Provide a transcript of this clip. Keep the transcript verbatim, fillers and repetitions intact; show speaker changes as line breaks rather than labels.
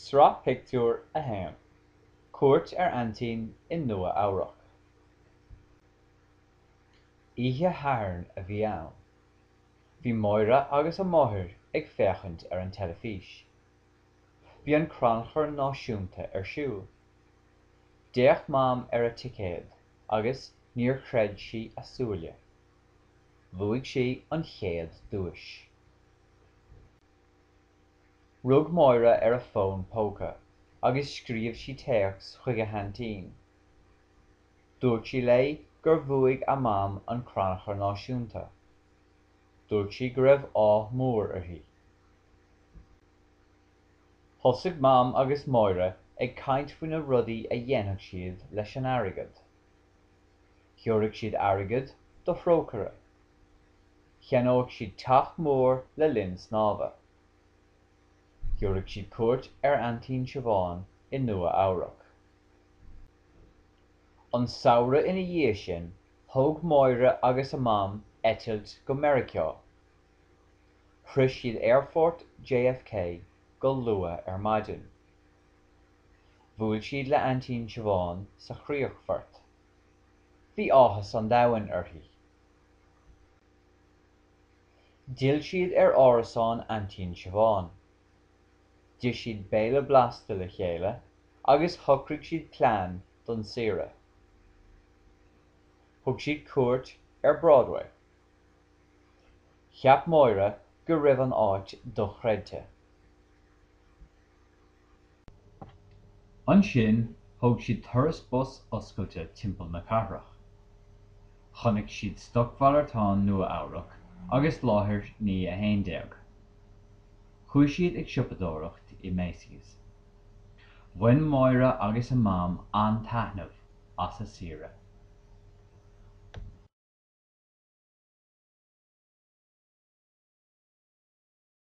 Sraith Pictiúr a haon, Cuairt ar Aintín i Nua Eabhrac. Oíche Shathairn a bhí ann. Bhí Máire agus a máthair ag féachaint ar an teilifís. Bhí an Crannchur Náisiúnta ar siúl. D'fhéach Mam ar a ticéad agus níor chreid sí a súile. Bhuaigh sí an chéad duais. Rug Máire ar a fón póca agus scríobh sí téacs chuig a haintín. Dúirt sí léi gur bhuaigh a mam an Crannchur Náisiúnta. Dúirt sí go raibh ádh mór uirthi. Thosaigh Mam agus Máire ag caint faoi na rudaí a dhéanfadh siad leis an airgead. Gheobhaidh siad airgead do thrócaire. Cheannódh siad teach mór le linn snámha. Gheobhaidh siad cuairt ar Aintín Siobhán i Nua Eabhrac. An samhradh ina dhiaidh sin, thóg Máire agus a mam eitilt go Meiriceá. Shroich siad Aerfort J F K go luath ar maidin. Bhuail siad le Aintín Siobhán sa chríochfort. Bhí áthas an domhain uirthi. D'fhill siad ar árasán Aintín Siobhán. D'ith siad béile blasta le chéile agus shocraigh siad plean don saoire. Thug siad cuairt ar Broadway. Cheap Máire go raibh an áit dochreidte. Ansin thóg siad turas bus oscailte timpeall na cathrach. Chonaic siad Stocmhalartán Nua-Eabhrac agus Láthair naoi a haon déag. Chuaigh siad ag siopadóireacht i Macy's. Bhain Máire agus a mam an-taitneamh as a saoire.